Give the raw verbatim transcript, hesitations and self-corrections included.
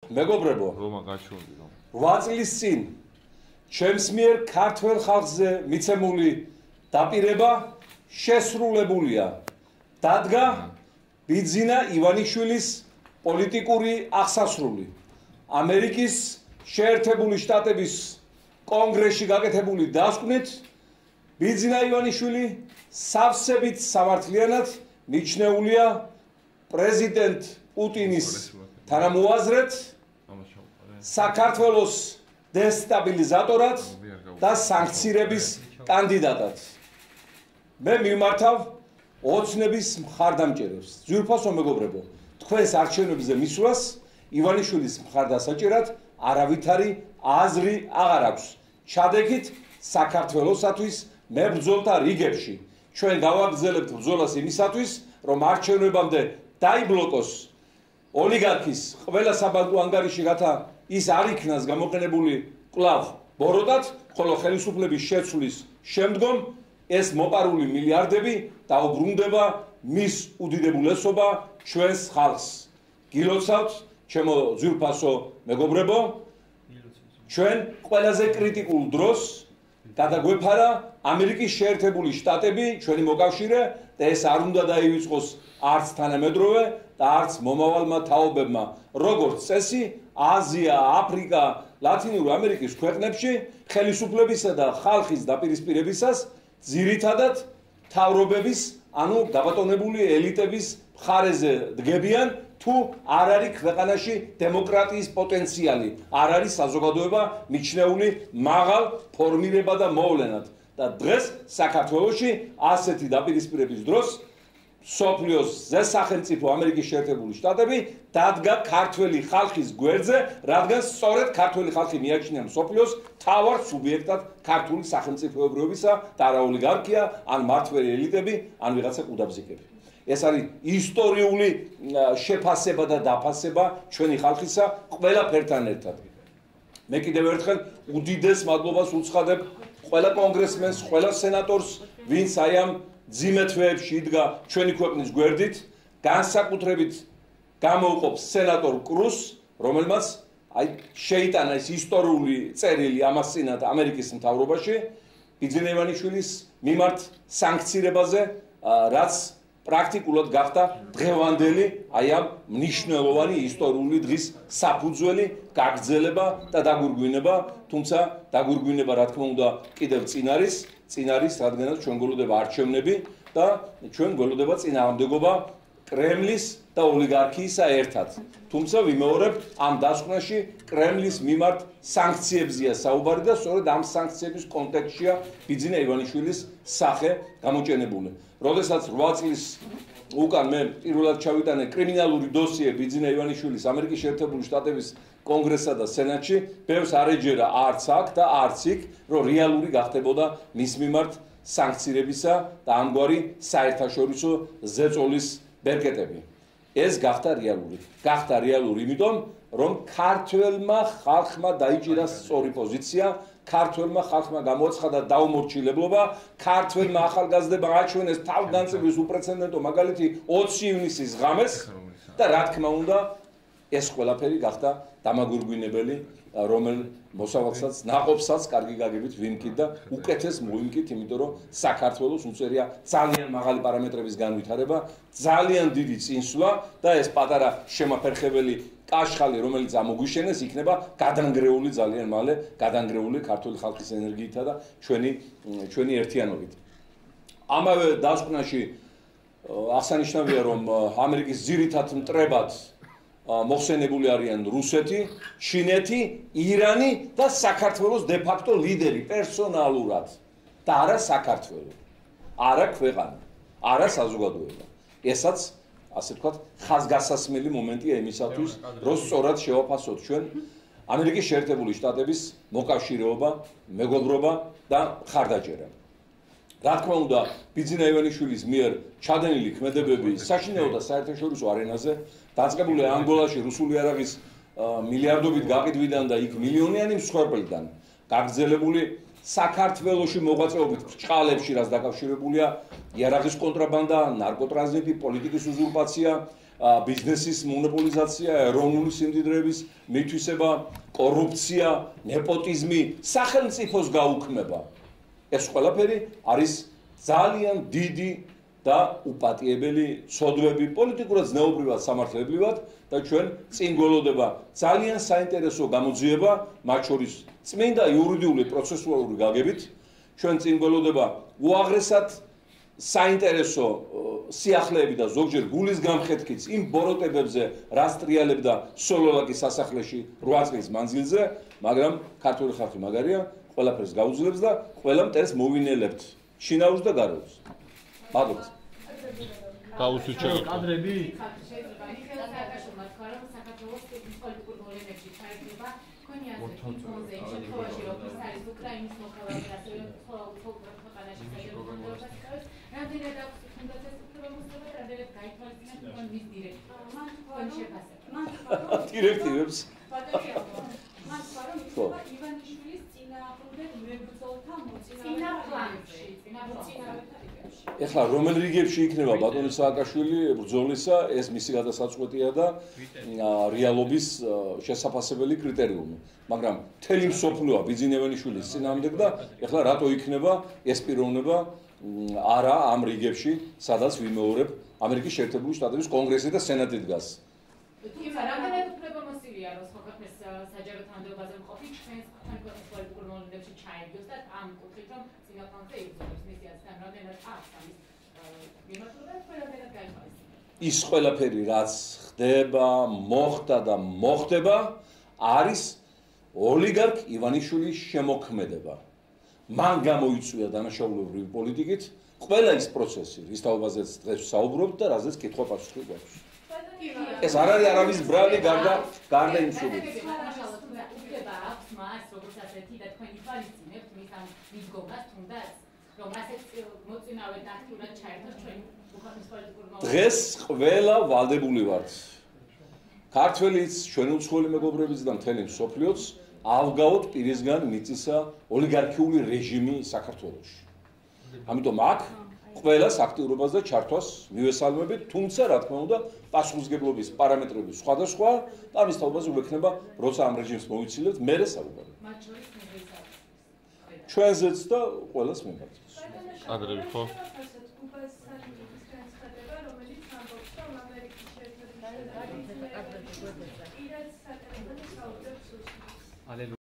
მეგობრებო, რომა გაჩვენდი რომ რვა წლის წინ ჩემს მიერ ქართველ ხალხზე მიცემული დაპირება შესრულებულია. დადგა ბიძინა ივანიშვილის პოლიტიკური აღსასრული. ამერიკის შეერთებული შტატების კონგრესში გაკეთებული დასკვნით ბიძინა ივანიშვილი სავსებით სამართლიანად მიჩნეულია პრეზიდენტ პუტინის თანამოაზრედ, საქართველოს დესტაბილიზატორად და სანქციების კანდიდატად. მე მიმართავ ოცნების მხარდამჭერებს. ძვირფასო მეგობრებო, თქვენს არჩევნებზე მისვლას ივანიშვილის მხარდასაჭერად არავითარი აზრი აღარ აქვს. ჩადექით საქართველოსათვის მებრძოლთა რიგებში. ჩვენ გავაგრძელებთ ბრძოლას იმისათვის, რომ არჩევნებამდე დაიბლოკოს ოლიგარქის ყველა საბანკო ანგარიში, რათა ის არ იქნას გამოყენებული კვლავ ბოროტად, ხოლო ხელისუფლების შეცვლის შემდგომ ეს მოპარული მილიარდები დაუბრუნდება მის უდიდებულესობა ჩვენს ხალხს. გილოცავთ, ჩემო ძვირფასო მეგობრებო, ჩვენ ყველაზე კრიტიკულ დროს გადაგვეფარა ამერიკის შეერთებული შტატები, ჩვენი მოკავშირე და ეს არ უნდა დაივიწყოს არც თანამედროვე და არც მომავალმა თაობებმა. როგორც წესი, აზია, აფრიკა, ლათინური ამერიკის ქვეყნებში ხელისუფლებისა და ხალხის დაპირისპირებისას ძირითადად მთავრობების, ანუ გაბატონებული ელიტების მხარეზე დგებიან, თუ არ არის ქვეყანაში დემოკრატიის პოტენციალი, არ არის საზოგადოება მიჩნეული მაღალ ფორმირება და მოვლენად. და დღეს საქართველოში ასეთი დაპირისპირების დროს მსოფლიოს ზესახელმწიფო ამერიკის შეერთებული შტატები დადგა ქართველი ხალხის გვერდზე, რადგან სწორედ ქართველი ხალხი მიაჩნია მსოფლიოს მთავარ სუბიექტად ქართული სახელმწიფოებრიობისა და არა ოლიგარქია, ან მმართველი ელიტები, ან ვიღაცა ყუდაბზიკები. ეს არის ისტორიული შეფასება და დაფასება ჩვენი ხალხისა ყველაფერთან ერთად. მე კიდევ ერთხელ უდიდეს მადლობას უცხადებ ყველა კონგრესმენს, ყველა სენატორს, ვინც აი ამ ძიმე თვეებში იდგა ჩვენი ქვეყნის გვერდით, განსაკუთრებით გამოუყოფს სენატორ კრუსს, რომელმაც აი შეიტანა ეს ისტორიული წერილი ამას წინათ ამერიკის მთავრობაში, ბიძინა ივანიშვილის მიმართ სანქცირებაზე, რაც პრაქტიკულად გახდა დღევანდელი აი ამ მნიშვნელოვანი ისტორიული დღის საფუძველი, გაგრძელება და დაგურგვინება, თუმცა დაგურგვინება რა თქმა უნდა კიდევ წინ არის, წინ არის, რადგანაც ჩვენ გველოდება არჩევნები და ჩვენ გველოდება წინააღმდეგობა კრემლის და ოლიგარქიისა ერთად. თუმცა ვიმეორებ, ამ დასკვნაში კრემლის მიმართ სანქციებზია საუბარი და სწორედ ამ სანქციების კონტექსტშია ბიძინა ივანიშვილის სახე გამოჩენებული. როდესაც რვა წლის უკან მე პირველად ჩავიტანე კრიმინალური დოსიე ბიძინა ივანიშვილის ამერიკის შეერთებული შტატების კონგრესსა და სენატში, ბევრს არ ეჯერა არც აქ და არც იქ, რომ რეალური გახდებოდა მის მიმართ სანქცირებისა და ამგვარი საერთაშორისო ზეწოლის ბერკეტები. ეს გახდა რეალური. გახდა რეალური იმიტომ, რომ ქართველმა ხალხმა დაიჭირა სწორი პოზიცია, ქართველმა ხალხმა გამოაცხადა დაუმორჩილებლობა, ქართველმა ახალგაზრდებმა აჩვენეს თავგანწირვის უპრეცედენტო მაგალითი ოცი ივნისის ღამეს და რა თქმა უნდა, ეს ყველაფერი გახდა დამაგურგვინებელი, რომელ მოსავალსაც, ნაყოფსაც კარგი გაგებით ვიმკით და უკეთეს მოვიმკით, იმიტომ რომ საქართველოს უწევია ძალიან მაღალი პარამეტრების განვითარება, ძალიან დიდი წინსვლა და ეს პატარა შემაფერხებელი კაშხალი, რომელიც ამოგვიშენეს, იქნება გადანგრეული ძალიან მალე, გადანგრეული ქართული ხალხის ენერგიითა და ჩვენი ჩვენი ერთიანობით. ამავე დასკვნაში აღსანიშნავია, რომ ამერიკის ძირითად მტრებად მოხსენებული არიან რუსეთი, ჩინეთი, ირანი და საქართველოს დე-ფაქტო ლიდერი პერსონალურად და არა საქართველო, არა ქვეყანა, არა საზოგადოება. ესაც ასე ვთქვათ, ხაზგასასმელი მომენტია იმისათვის, რომ სწორად შევაფასოთ ჩვენ ამერიკის შეერთებული შტატების მოკავშირეობა, მეგობრობა და მხარდაჭერა. რა თქმა უნდა, ბიძინა ივანიშვილის მიერ ჩადენილი ქმედებები საშინაო და საერთაშორისო არენაზე დაწყებული ანგოლაში რუსული იარაღის მილიარდობით გაყიდვიდან და იქ მილიონიანი მსხვერპლიდან გაგრძელებული საქართველოში მოღვაწეობით ბრჭყალებში, რაც დაკავშირებულია იარაღის კონტრაბანდა, ნარკოტრანზიტი, პოლიტიკის უზურპაცია, ბიზნესის მონოპოლიზაცია, ეროვნული სიმდიდრეების მითვისება, კორუფცია, ნეპოტიზმი, სახელმწიფოს გაუქმება. ეს ყველაფერი არის ძალიან დიდი და უპატიებელი ცოდვები, პოლიტიკურად ზნეობრივად, სამართლებრივად და ჩვენ წინ გველოდება ძალიან საინტერესო გამოძიება, მათ შორის წმინდა იურიდიული პროცესუალური გაგებით, ჩვენ წინ გველოდება უაღრესად საინტერესო სიახლეები და ზოგჯერ გულის გამხეთქიც იმ ბოროტებებზე, რაც ტრიალებდა სოლოლაკის სასახლეში რვა წლის მანძილზე, მაგრამ ქართული ხალხი მაგარია, ყველაფერს გაუძლებს და ყველა მტერს მოვინელებთ შინაურს და გარეულს. მადლობა. გაუსუჩო კადრები დირექტივებს ეხლა რომელ რიგებში იქნება ბატონი სააკაშვილი ბრძოლისა, ეს მისი გადასაწყვეტია და რეალობის შესაფასებელი კრიტერიუმი. მაგრამ მთელი მსოფლიოა ბიძინევენიშვილის წინააღმდეგ და ეხლა რატო იქნება ეს პიროვნება არა ამ რიგებში, სადაც ვიმეორებ ამერიკის შეერთებული შტატების კონგრესი და სენატი დგას. რამდენად უფლებამოსილია რომ სხვა ქვეყნის საჯარო თანამდებობაზე მყოფი ჩვენს ქვეყნის პოლიტიკურ მოვლენებში ჩაებდოს და ამ კუთხით რომ წინაპრებზე იბრძოლოს მისიასთან რამდენად აქვს ამის მიმართულება ყველაფერად გაიხარისება. ის ყველაფერი რაც ხდება, მოხდა და მოხდება არის ოლიგარქ ივანიშვილის შემოქმედება. მან გამოიწვია დანაშაულებრივი პოლიტიკით ყველა ის პროცესი, რის თაობაზეც დღეს ვსაუბრობთ და რაზეც კითხვა-პასუხი გვაქვს. ეს არ არის არავის ბრალი გარდა გარდა იმ სულით. უფლება აქვს მას, როგორც ასეთი და თქვენ ითვალისწინებთ მის ამ მიდგომას თუნდაც, რომ ასეთ მოწინავედ აქტიურად ჩაერთოს ჩვენი ქვეყნის პოლიტიკურ მოვლენებში. დღეს ყველა ვალდებული ვართ. ქართველიც, ჩვენი უცხოელი მეგობრებიც და მთელი მსოფლიოც ავგაოთ პირისგან მიწისა ოლიგარქიული რეჟიმი საქართველოში. ამიტომ აქ ყველას აქტიურობას და ჩართვას მივესალმებით, თუმცა რა თქმა უნდა, პასუხისგებლობის პარამეტრები სხვადასხვა და ამის თაობაზე გვექნება, როცა ამ რეჟიმს მოვიცილებთ, მერე საუბარი. მათ შორის მიღწევს. ჩვენზეც და ყველას მიმართავს. კადრები ხო?